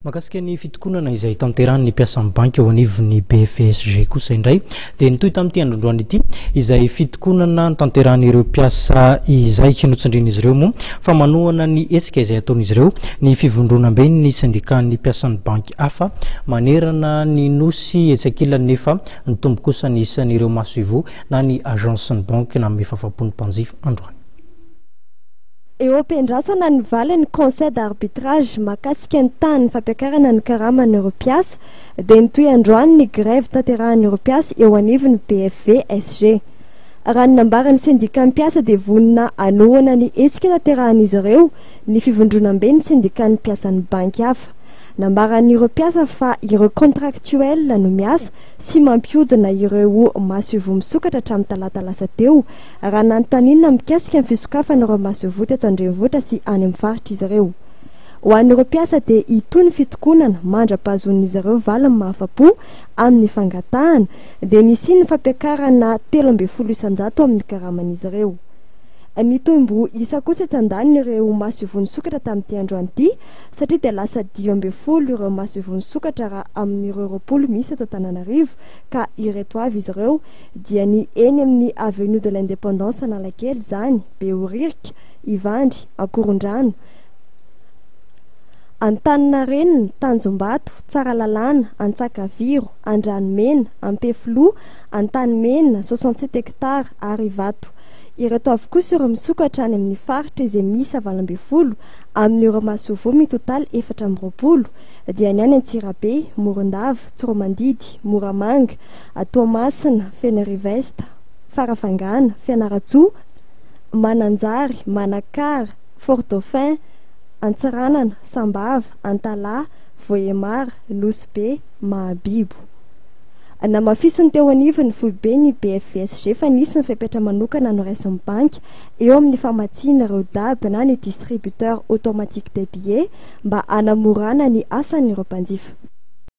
Mahakasika ny fitokonana izay tanterahin'ny mpiasan'ny banky eo anivon'ny BFSG kosa indray dia nitohy tamin'ity androndroany ity izay fitokonana notanterahin'ireo mpiasa izay. Notsindrin'izy ireo moa fa manohana ny hetsika izay ataon'izy ireo ny fivondronamben'ny sendikan'ny mpiasan'ny banky hafa manerana ny nosy. Etsy ankilany nefa nitombo kosa ny isan'ireo masoivoho na ny agence ny banky nanome fafapo ny mpanjifa androany. Eo am-piandrasana ny valin'ny Conseil d'arbitrage mahakasika ny tahan'ny fampiakarana ny karaman'ireo mpiasa dia nitohy androany ny grève tanterahan'ireo mpiasa eo anivon'ny BFVSG. Raha ny nambaran'ny sendikà mpiasa dia vonona hanohana ny hetsika tanterahan'izy ireo ny fivondronamben'ny sendikan'ny mpiasan'ny banky hafa. Nambaran'ireo mpiasa fa ireo contractuels no miasa sy mampihodina ireo masoivoho misokatra hatramin'ny talata lasa teo raha nanontaniana mikasika ny fisokafan'ireo masoivoho teto an-drenivohitra sy any amin'ny faritra izy ireo. Ho an'ireo mpiasa dia hitohy ny fitokonana mandra-pahazoan'izy ireo valiny mahafa-po amin'ny fangatahana, dia nisian'ny fampiakarana 13% amin'ny karaman'izy ireo. Nitombo isa kosa etsy andaniny ireo masoivoho nisokatra tamin'ity androany ity satria dia lasa 15 ireo masoivoho nisokatra raha amin'ireo 20 misy eto Antananarivo ka ireto avy izy ireo dia ny eny amin'ny Avenue de l'Indépendance Analakely izany, Behoririka, Ivandry, Ankorondrano, Antaninarenina, Tanjombato, Tsaralalàna, Antsakaviro, Andranomena, Ampefiloha, Antanimena, 67 hectares, ary Ivato. Ireto avy kosa ireo misokatra any amin'ny faritra izay miisa 18 amin'ireo masoivoho mitotaly 24 dia ny any Antsirabe, Morondava, Tsiroamandidy, Moramanga, Toamasina, Fenerive-Est, Farafangana, Fianarantsoa, Mananjary, Manakara, Fort Dauphin, Antsiranana, Sambava, Antalaha, Vohemar, Nosy Be, Mahabibo. Namafisin'ny teo anivon'ny foiben'ny BFVSG fa nisy ny fepetra manokana noraisin'ny banky eo amin'ny famatsiana ireo dab na ny distributeur automatique des billets mba hanamorana ny asan'ireo mpanjifa.